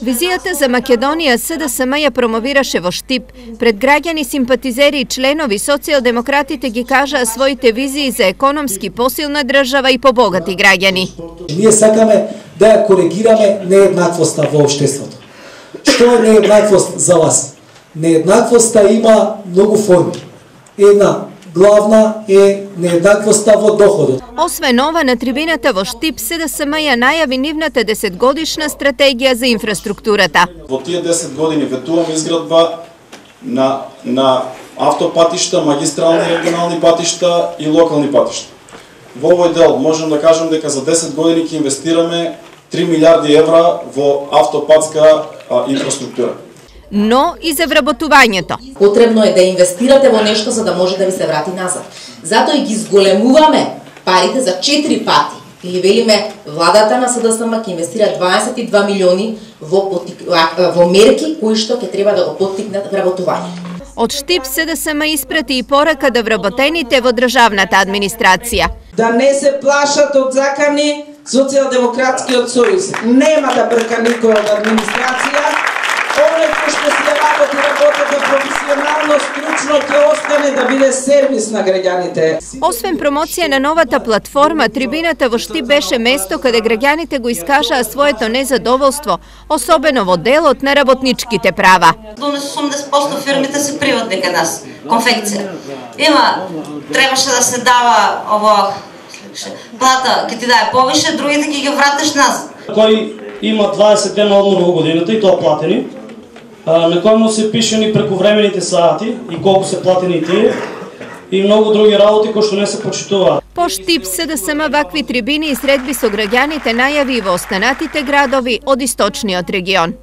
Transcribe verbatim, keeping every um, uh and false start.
Визијата за Македонија СДСМ ја промовираше во Штип. Пред граѓани, симпатизери и членови, социјалдемократите ги кажаа своите визии за економски посилна држава и побогати граѓани. Ние сакаме да ја коригираме нееднаквоста во општеството. Што е нееднаквост за вас? Нееднаквоста има многу форми. Една главна е нееднаквоста во доходот. Освен ова, на трибината во Штип СДСМ ја најави нивната десетгодишна стратегија за инфраструктурата. Во тие десет години ветуваме изградба на на автопатишта, магистрални и регионални патишта и локални патишта. Во овој дел можем да кажем дека за десет години ќе инвестираме три милиарди евра во автопатска а, инфраструктура. Но и за вработувањето. Потребно е да инвестирате во нешто за да може да ви се врати назад. Затоа и ги зголемуваме парите за четири пати. Или велиме, владата на СДСМ ќе инвестира дваесет и два милиони во, потик... во мерки кои што ќе треба да го поттикнат вработувањето. Од Штип СДСМ испрати и порака да вработените во државната администрација. Да не се плашат од закани Социјалдемократскиот сојуз. Нема да брка никој од администрација. Оној кој што се работи, работата професионално, стручно, ќе остане да биде сервис на граѓаните. Освен промоција на новата платформа, трибината во Штип беше место каде граѓаните го искажаа своето незадоволство, особено во делот на работничките права. осумдесет проценти фирмите се приватни кај нас, конфекција. Има, требаше да се дава ово плата, ќе ти даде повише, другите ќе ги вратиш назад. Кој има дваесет дена одмор во годината и тоа платени, на кој му се пишени прековремените сати и колку се платени тие, и многу други работи кои што не се почитуваат. По Штип СДСМ вакви трибини и средби со граѓаните најави и во останатите градови од источниот регион.